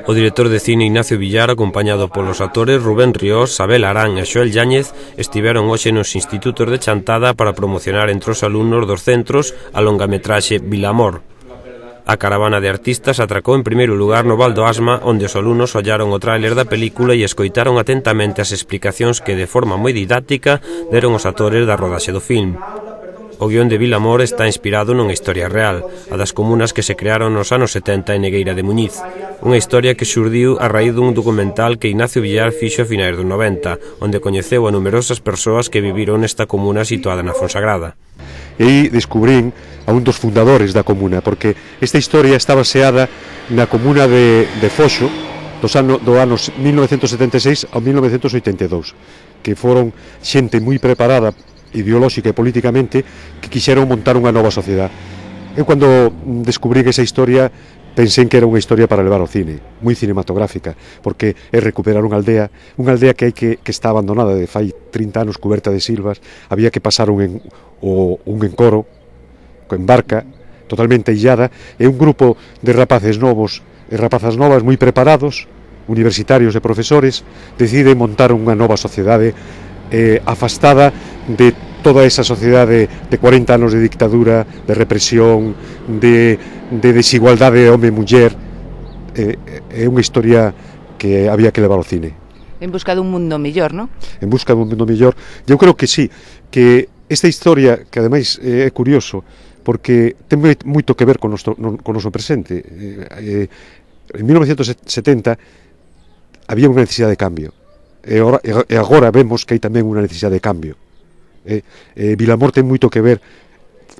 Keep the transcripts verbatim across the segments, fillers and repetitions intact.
O director de cine Ignacio Villar, acompañado polos actores Rubén Riós, Abel Arán e Xoel Yáñez, estiveron hoxe nos institutos de Chantada para promocionar entre os alumnos dos centros a longametraxe Vilamor. A caravana de artistas atracou en primeiro lugar no Val do Asma, onde os alumnos ollaron o tráiler da película e escoitaron atentamente as explicacións que, de forma moi didáctica, deron os actores da rodaxe do film. O guión de Vilamor está inspirado nunha historia real, a das comunas que se crearon nos anos setenta en Negueira de Muñiz. Unha historia que xurdiu a raíz dun documental que Ignacio Villar fixo a finais dos noventa, onde coñeceu a numerosas persoas que viviron nesta comuna situada na Fonsagrada. E aí descubrín a un dos fundadores da comuna, porque esta historia está baseada na comuna de, de Foxo dos ano, do anos mil novecentos setenta e seis ao mil novecentos oitenta e dous, que foron xente moi preparada ideolóxica e políticamente que quixeron montar unha nova sociedade. Eu cando descubrí esa historia pensei que era unha historia para levar ao cine, moi cinematográfica, porque é recuperar unha aldea, unha aldea que hai que, que está abandonada de fai trinta anos, cuberta de silvas, había que pasar un, en, o, un encoro, en barca, totalmente illada, e un grupo de rapaces novos e rapazas novas moi preparados, universitarios e profesores, deciden montar unha nova sociedade eh, afastada de toda esa sociedade de cuarenta anos de dictadura, de represión, de, de desigualdade home e muller. É eh, unha historia que había que levar ao cine. En busca dun mundo mellor, non? En busca dun mundo mellor. Eu creo que sí, que esta historia, que ademais é curioso, porque ten moito que ver con o noso presente. Eh, en mil novecentos setenta había unha necesidade de cambio. E agora vemos que hai tamén unha necesidade de cambio. Eh, eh, Vilamor ten moito que ver,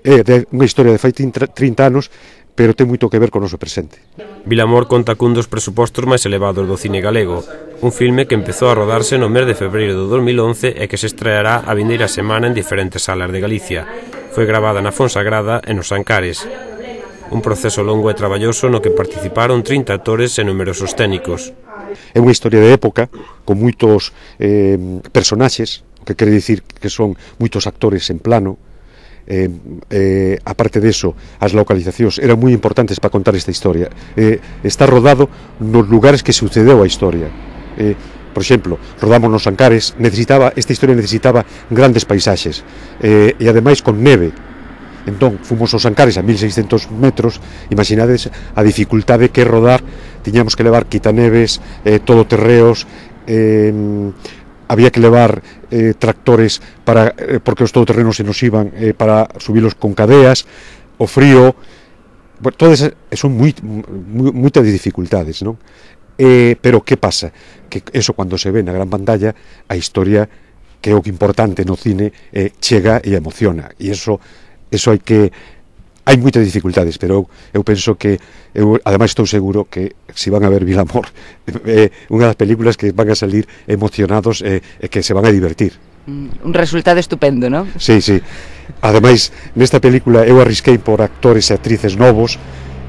é eh, unha historia de fai trinta anos, pero ten moito que ver con o noso presente. Vilamor conta cun dos presupostos máis elevados do cine galego, un filme que empezou a rodarse no mes de febreiro do dos mil once e que se estreará a vindeira semana en diferentes salas de Galicia. Foi gravada na Fonsagrada e nos Ancares. Un proceso longo e traballoso no que participaron trinta actores e numerosos técnicos. É unha historia de época, con moitos eh, personaxes, o que quere dicir que son moitos actores en plano. Eh, eh, aparte deso, as localizacións eran moi importantes para contar esta historia. Eh, está rodado nos lugares que sucedeu a historia. Eh, por exemplo, rodamos nos Ancares, necesitaba, esta historia necesitaba grandes paisaxes, eh, e ademais con neve. Entón, fomos aos Ancares a mil seiscentos metros, imaginades a dificultade que rodar, tiñamos que levar quitaneves, eh, todoterreos, eh, había que levar eh, tractores para, eh, porque os todoterrenos se nos iban eh, para subilos con cadeas, o frío, bueno, todas son moi, moi, moitas dificultades, non? Eh, pero que pasa? Que eso cuando se ve na gran pantalla, a historia, que é o que importante no cine, eh, chega e emociona, e eso eso hai que hai moitas dificultades, pero eu, eu penso que eu ademais estou seguro que se van a ver Vilamor é eh, unha das películas que van a salir emocionados e eh, que se van a divertir. Un resultado estupendo, non? Sí, sí. Ademais, nesta película eu arrisquei por actores e actrices novos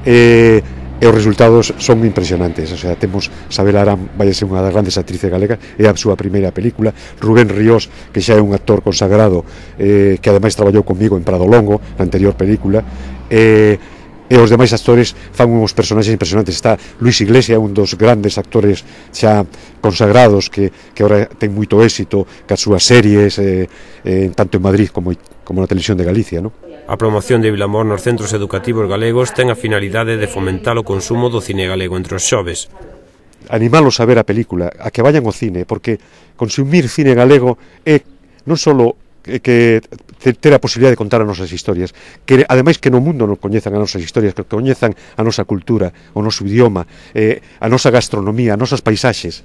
e eh, e os resultados son impresionantes. O sea, temos Sabela Arán, vai ser unha das grandes actrices galegas, é a súa primeira película. Rubén Riós, que xa é un actor consagrado, eh, que ademais traballou comigo en Prado Longo, na anterior película, e, e os demais actores fan uns personaxes impresionantes. Está Luis Iglesias, un dos grandes actores xa consagrados, que, que agora ten moito éxito cas súas series, eh, eh, tanto en Madrid como, como na televisión de Galicia, non? A promoción de Vilamor nos centros educativos galegos ten a finalidade de fomentar o consumo do cine galego entre os xoves. Animalos a ver a película, a que vayan ao cine, porque consumir cine galego é non só que ter a posibilidade de contar as nosas historias, que ademais que no mundo non coñezan as nosas historias, que coñezan a nosa cultura, o noso idioma, eh, a nosa gastronomía, as nosas paisaxes.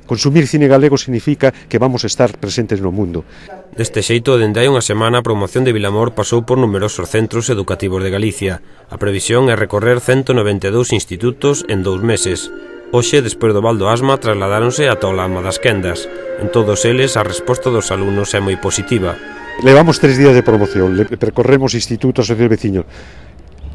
Consumir cine galego significa que vamos a estar presentes no mundo. Deste xeito, dende hai unha semana, a promoción de Vilamor pasou por numerosos centros educativos de Galicia. A previsión é recorrer ciento noventa e dous institutos en dous meses. Hoxe, despois do Val do Asma, trasladáronse ata o Lama das Quendas. En todos eles, a resposta dos alumnos é moi positiva. Levamos tres días de promoción, percorremos institutos e veciños.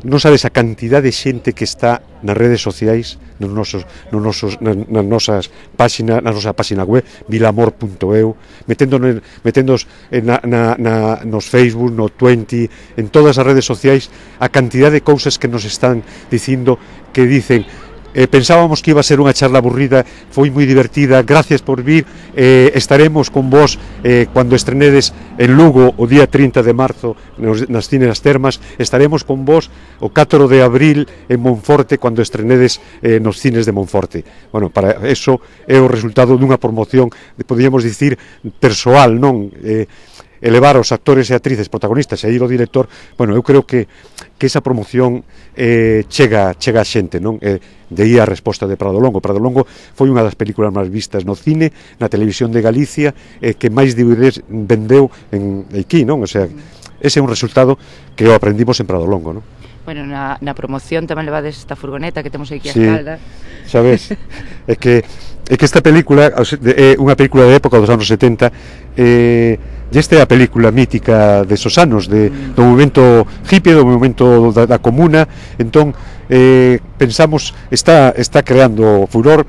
non sabes a cantidad de xente que está nas redes sociais, nos nosos, nos nosos, nas, nas nosas páxinas, na nosa páxina web, vilamor punto eu, meténdonos, meténdonos na, na, na, nos Facebook, no Twenty, en todas as redes sociais, a cantidad de cousas que nos están dicindo, que dicen, Eh, pensábamos que iba a ser unha charla aburrida, foi moi divertida, gracias por vir, eh, estaremos con vos eh, cando estrenedes en Lugo o día trinta de marzo nos, nas Cines das Termas, estaremos con vos o catro de abril en Monforte cando estrenedes eh, nos Cines de Monforte. Bueno, para eso é o resultado dunha promoción, podíamos dicir, persoal, non? Eh, elevar os actores e actrices protagonistas e ir o director, bueno, eu creo que que esa promoción eh, chega chega a xente, non? Eh, de aí a resposta de Prado Longo. Prado Longo foi unha das películas máis vistas no cine, na televisión de Galicia, eh, que máis D V Ds vendeu en aquí, non? O sea, ese é un resultado que o aprendimos en Prado Longo, non? Bueno, na, na promoción tamén levades esta furgoneta que temos aquí a sí, espalda. Sabes, é que é que esta película é unha película de época dos anos setenta, eh, e esta é a película mítica de esos anos, de, do movimento hippie, do movimento da, da comuna. Entón, eh, pensamos, está, está creando furor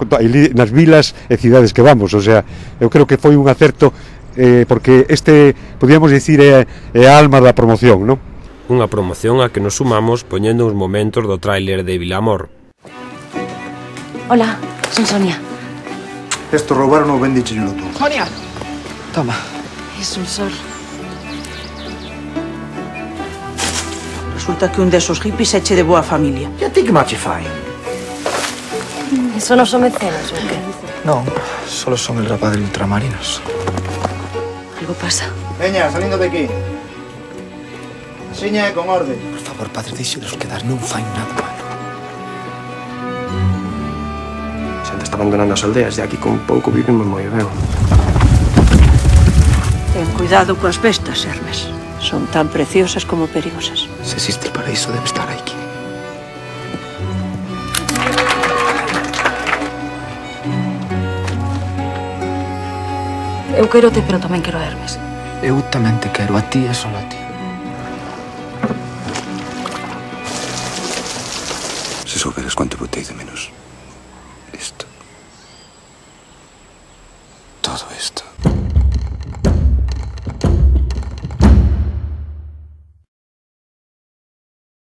nas vilas e cidades que vamos, o sea, eu creo que foi un acerto, eh, porque este, podíamos dicir, é, é a alma da promoción, non? Unha promoción a que nos sumamos poñendo uns momentos do tráiler de Vilamor. Hola, son Sonia. Esto roubaron o bendicheñolo tú. Sonia. Toma. Es un sol. Resulta que un desos hippies eche de boa familia. E a ti que mache fai? Eso non son mecenas, ou que? Non, solo son el rapaz de ultramarinos. Algo pasa. Veña, salindo de aquí. Seña e con orde. Por favor, padre, deixelos quedar, non fai nada malo. Xente está abandonando as aldeas, e aquí con pouco vivimos moi ben. Ten cuidado coas bestas, Hermes. Son tan preciosas como perigosas. Se existe el paraíso, debe estar aquí. Eu quero te, pero tamén quero a Hermes. Eu tamén te quero, a ti e solo a ti. Si souberes cuánto botei de menos. Esto. Todo esto.